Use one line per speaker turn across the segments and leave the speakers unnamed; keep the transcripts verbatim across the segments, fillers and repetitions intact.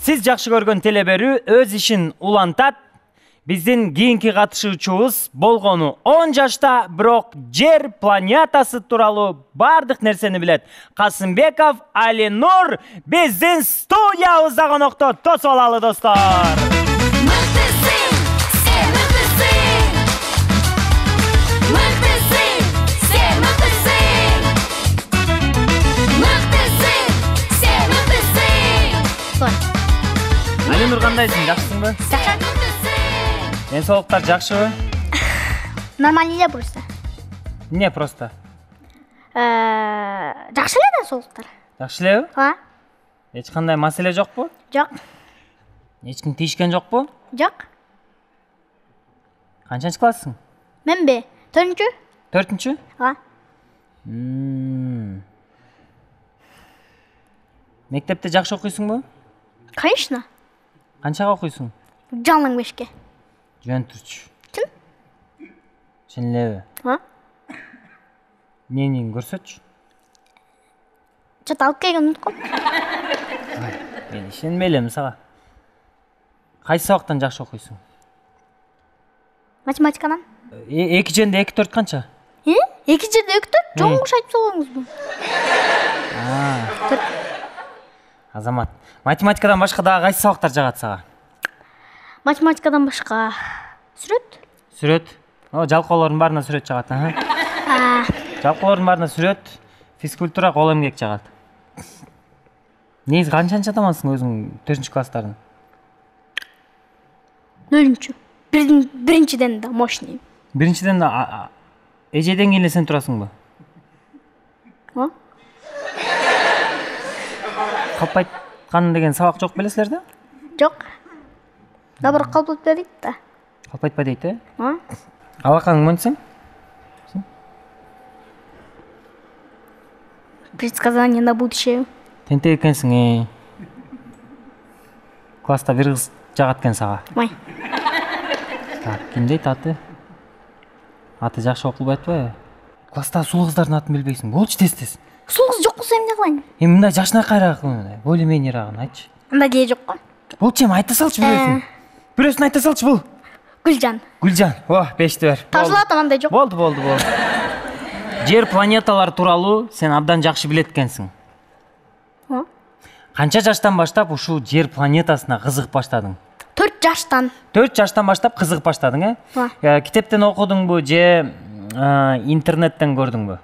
Сиз жакшы көргөн теле берүү өз ишин улантат. Биздин кийинки катышуучубуз болгону он жашта, бирок жер планетасы тууралуу бардык нерсени билет. Касымбеков Алинур биздин студиябызда конокто. Тосуп алалы достор. Алинур кандайсың, жакшысыңбы?
Жакшы.
Ден соолуктар жакшыбы?
Нормально эле просто.
Эмне просто?
Э, жакшы эле ден соолуктар.
Жакшы элеби?
Ооба.
Эч кандай маселе жокпу?
Жок.
Эч ким тийишкен жокпу?
Жок.
Канчанчы класссың?
Менби? төртүнчү?
төртүнчү?
Ооба.
Мектепте жакшы окуйсуңбу?
Конечно.
Канчага окуйсуң?
Жалаң бешке.
Жөн турчу.
Ким?
Чын элеби?
Ооба.
Эмнени көрсөтчү?
Чат алып келген унутком.
Мен ишенбей элем сага. Кайсы сабактан жакшы окуйсуң?
Математикадан.
эки жерде эки төрт канча?
Э? эки жерде эки төрт? Жоңуш айтып салбаңызбы?
Азамат, математикадан башка дагы кайсы сабактар жагат сага?
Математикадан башка сүрөт?
Сүрөт. О, жалкоолордун баарына сүрөт жагат, а? Жалкоолордун баарына сүрөт, физкультура, кол эмгек жагат. Негизи канчанчы атамансың өзүң төртүнчү класстарын?
нөлүнчү. Биринчиден да мощный.
Биринчиден да эжеден кийин эле сен турасыңбы?
Ооба.
Калпайткан деген сабак жок белесиздер да?
Жок. Добро калпайтпа дейт да.
Калпайтпа дейт, э?
Ооба.
Алаканың монсең?
Предсказание на будущее.
Тентек экенсиң, э. Класста бир кыз жагат экен сага.
Май.
Так, ким дейт аты? Аты жакшы окулбай атпайбы? Класста сулуу кыздардын атын билбейсиң. Болчу тез-тез.
Сулуу кыз жок болсо эмне кылайын?
Эми мындай жашынакайраак, более-менераагын айтчы.
Анда кээ жок го.
Болчу эми айта салчы бирөөсүн. Бирөөсүн айта салчы бул.
Гүлжан.
Гүлжан. О, бешти бер.
Тажылат андай жок.
Болду, болду, болду. Жер планеталар тууралуу сен абдан жакшы билет экенсиң.
Ооба.
Канча жаштан баштап ушул жер планетасына кызыгып баштадың?
төрт жаштан.
төрт жаштан баштап кызыгып баштадың, э?
Ооба.
Китептен окудуңбу же интернеттен көрдүңбү?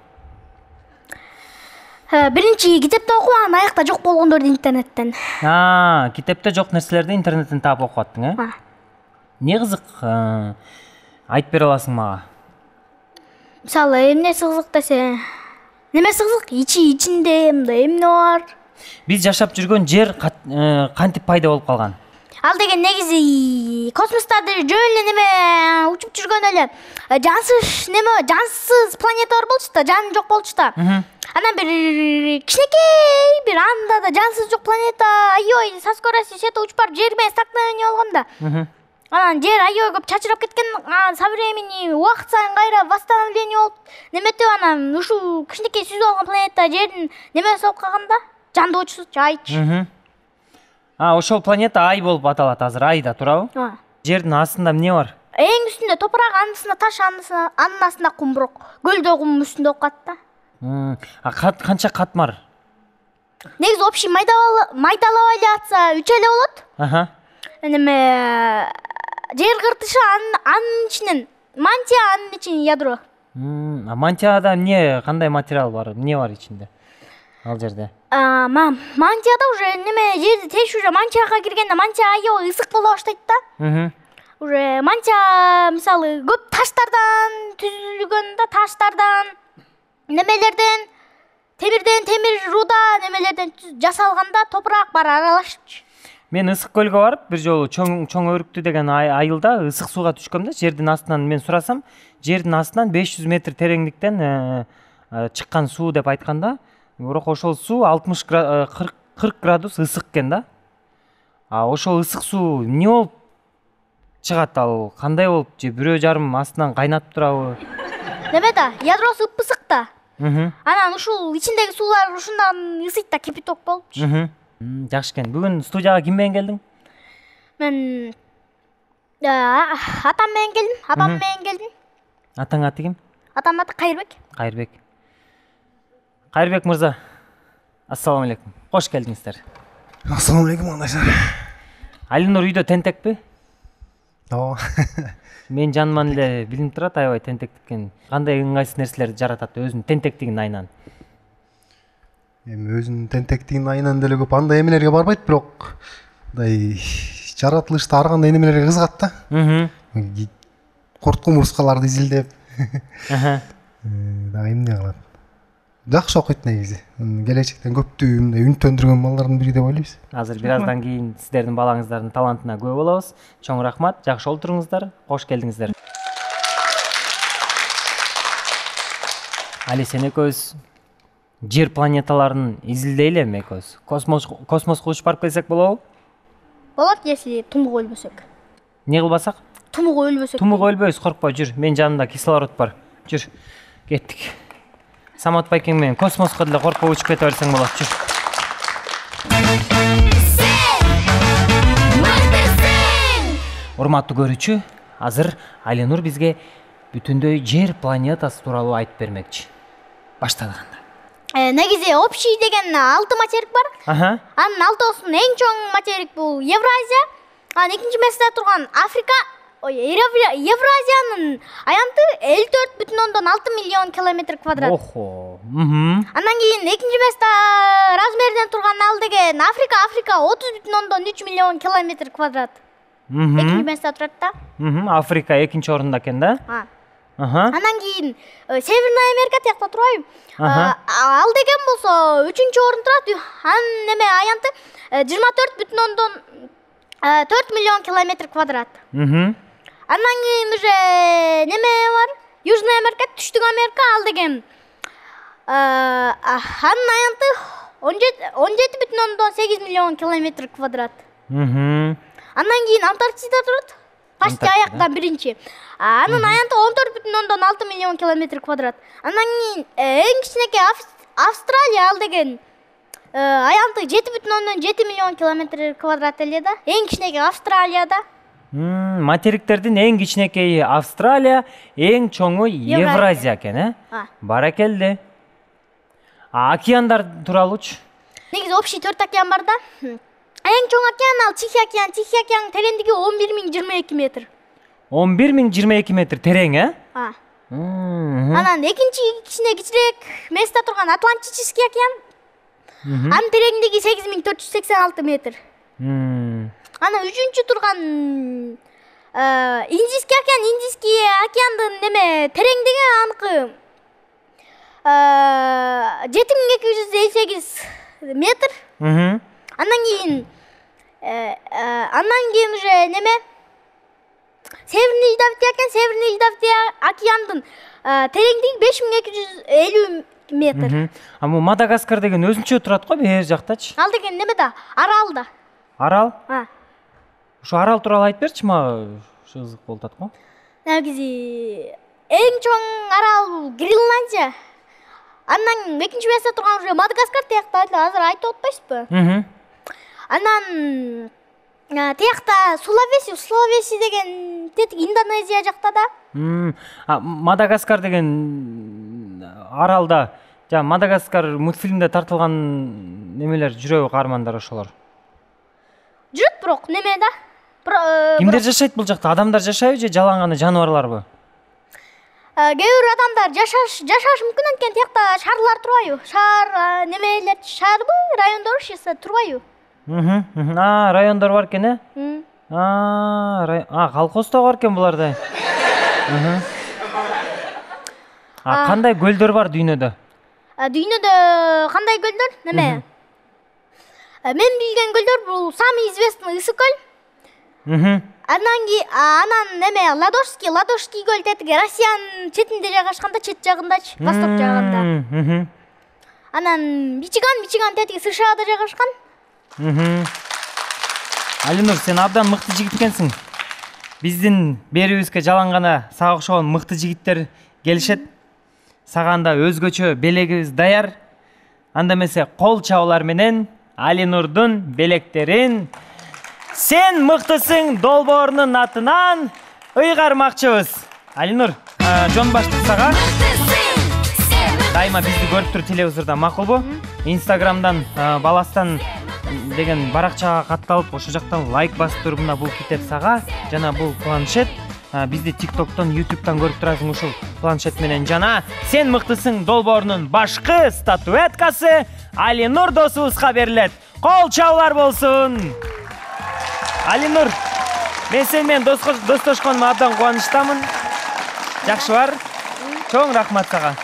Биринчи китепте окуган, аякта жок болгондорду интернеттен.
А, китепте жок нерселерди интернеттен таап окуп аттың, э?
Ооба.
Не кызык? Айтып бере аласың мага?
Мисалы, эмнеси кызык десе, немеси кызык? Ичи ичинде мындай эмне бар?
Биз жашап жүргөн жер кантип пайда болуп калган?
Ал деген негизи космостарда жөн эле неме учуп жүргөн эле жансыз неме, жансыз планеталар болчу да, жан жок болчу да. Анан бир кичинекей бир анда да жансыз жок планета аёй сас көрөсү сете учуп барып жер менен столкновение болгон да. Анан жер аёй көп чачырап кеткен, со времени убакыт сайын кайра восстановление болуп неметип анан ушул кичинекей сүзүп алган планета жердин немеси болуп калганда, жандоочусу айчы.
А, ошол планета Ай болуп аталат азыр, Айда, туурабы?
Ооба.
Жердин астында эмне бар?
Эң үстүндө топурак, анын астында таш, анын астында кум, бирок көлдө кум үстүндө окуп калат да.
А канча катмар?
Негизи общий майдалап эле атса үч эле болот.
Аха.
Неме жер кыртышы анын ичинен, мантия анын ичинен ядро.
А мантияда эмне, кандай материал бар? Эмне бар ичинде? Ал жерде.
А, мантияда уже неме жерди теш уже мантияга киргенде мантия аябай ысык боло баштайт да. Уже мантия мисалы көп таштардан түзүлгөн да, таштардан, немелерден, темирден, темир руда немелерден жасалганда топурак бар аралашчы.
Мен Ысык көлгө барып, бир жолу чоң чоң өрүктү деген айылда ысык сууга түшкөм да, жердин астынан мен сурасам, жердин астынан беш жүз метр тереңдиктен чыккан суу деп айтканда, бирок ошол суу алтымыш кырк градус ысык экен да. А ошол ысык суу эмне болуп чыгат, ал кандай болуп, же бирөө жарым астынан кайнатып турабы?
Неме да, ядросу ыппысык да.
Анан
ушул ичиндеги суулар ушундан ысыйт да, кипяток болупчу.
Жакшы экен. Бүгүн студияга ким менен келдиң?
Мен атам менен келдим, апам менен келдим.
Атаң аты ким?
Атамдын аты Кайырбек.
Кайырбек. Кайырбек мырза, ассаламу алейкум. Кош келдиңиздер.
Ассаламу алейкум андайлар.
Алинур үйдө тентекпи?
Ооба.
Мен жаныман эле билинип турат аябай тентектиккен. Кандай ыңгайсыз нерселерди жаратат өзүнүн тентектигинин айынан?
Эми өзүнүн тентектигинин айынан деле көп андай эмелерге барбайт, бирок мындай жаратылышта ар кандай немелерге кызыгат да. Корт кумурскаларды изилдеп. Дагы эмне кылат? Жакшы окуйт негизи. Келечектен көптү мындай үнөттөндүргөн балдардын бири деп ойлойбуз.
Азыр бир аздан кийин сиздердин балаңыздардын талантына күбө болобуз. Чоң рахмат, жакшы олтуруңуздар, кош келдиңиздер. Али, сен экөөбүз жер планеталарын изилдейли эми экөөбүз. Космос космоско учуп барып келсек болобу?
Болот, если тумук өлбөсөк.
Не кылбасак?
Тумук өлбөсөк.
Тумук өлбөйбүз, коркпо, жүр. Менин жанымда кислород бар. Жүр. Кеттик. Самат Байкең менен космоско деле коркпой учуп кете берсең болот, жүр. Урматтуу көрүүчү, азыр Алинур бизге бүтүндөй жер планетасы тууралуу айтып бермекчи. Баштадык анда.
Негизи общий деген алты материк бар. Анын алтоосунун эң чоң материк бул Евразия. Анан экинчи месте турган Африка. Евразиянын аянты элүү төрт бүтүн ондон алты миллион километр квадрат.
Охо.
Андан кийин экинчи месте размерден турган ал деген Африка. Африка отуз бүтүн ондон үч миллион километр квадрат. Экинчи месте турат да.
Африка экинчи орунда экен да?
Андан кийин Северная Америка тиякта турбайбы? Ал деген болсо үчүнчү орунда турат. Анын неме аянты жыйырма төрт бүтүн ондон төрт миллион километр квадрат. Андан кийин уже неме бар? Южная Америка, Түштүк Америка, ал деген анын аянты он жети бүтүн ондон сегиз миллион километр квадрат. Андан кийин Антарктида турат. Почти аяктан биринчи. Анын аянты он төрт бүтүн ондон алты миллион километр квадрат. Андан кийин эң кичинекей Австралия, ал деген аянты жети бүтүн ондон жети миллион километр квадрат эле да. Эң кичинекей Австралияда.
Материктердин эң кичинекейи Австралия, эң чоңу Евразия экен, э? Баракелде. А океандар тууралуучу?
Негизи общий төрт океан бар да. Эң чоң океан ал Тихий океан. Тихий океан тереңдиги он бир миң жыйырма эки метр.
он бир миң жыйырма эки метр терең, э?
Анан экинчи кичине кичирээк месте турган Атлантический океан. Анын тереңдиги сегиз миң төрт жүз сексен алты метр. Анан үчүнчү турган Индийский океан. Индийский океандын неме тереңдиги аныкы жети миң эки жүз элүү сегиз метр. Андан кийин андан кийин уже неме Северный Ледовитый океан. Северный Ледовитый океандын тереңдиги беш миң эки жүз элүү метр.
А бул Мадагаскар деген өзүнчө турат го бер жактачы.
Ал деген неме да? Арал да.
Арал? Ушу арал тууралуу айтып берчи мага. Ушу кызык болуп атат го.
Негизи эң чоң арал бул Гренландия. Андан экинчи месте турган уже Мадагаскар тиякта азыр айтып атпайсызбы? Анан тиякта Сулавеси, Сулавеси деген тетик Индонезия жакта да.
Мадагаскар деген аралда, жана Мадагаскар мультфильмде тартылган немелер жүрөбү каармандар ошолор?
Жүрөт, бирок неме да?
Кимдер жашайт бул жакта? Адамдар жашайбы же жалаң гана жаныбарларбы?
Кээ бир адамдар жашаш жашаш мүмкүн, анткени тиякта шаарлар турбайбы? Шаар немелер, шаарбы, райондор турбайбы?
А, райондор бар экен, э? А, колхоздо бар экен буларда. А кандай көлдөр бар дүйнөдө?
Дүйнөдө кандай көлдөр? Неме? Мен билген көлдөр бул самый известный Ысык көл. Анан кийин анан неме Ладожский, Ладожский көл тетиги Россиянын четинде жайгашканда, чет жагындачы, восток жагында. Анан Мичиган, Мичиган тетиги США-да жайгашкан.
Алинур, сен абдан мыкты жигит экенсиң. Биздин берибизге жалаң гана сага окшогон мыкты жигиттер келишет. Сага анда өзгөчө белегибиз даяр. Анда эмесе кол чабуулар менен Алинурдун белектерин Сен мыктысың долбоорунун атынан ыйгармакчыбыз. Алинур, жон баштык сага. Дайыма бизди көрүп туруп телевизордон макулбу? Инстаграмдан баластан деген баракчага катталып, ошол жактан лайк басып туруп мына бул китеп сага жана бул планшет. Бизди TikTok'тон, YouTube'дан көрүп турасың ушул планшет менен жана Сен мыктысың долбоорунун башкы статуэткасы Алинур досубузга берилет. Кол чабуулар болсун. Алинур, мен сен менен достошконыма абдан кубанычтамын. Жакшы бар. Чоң рахмат сага.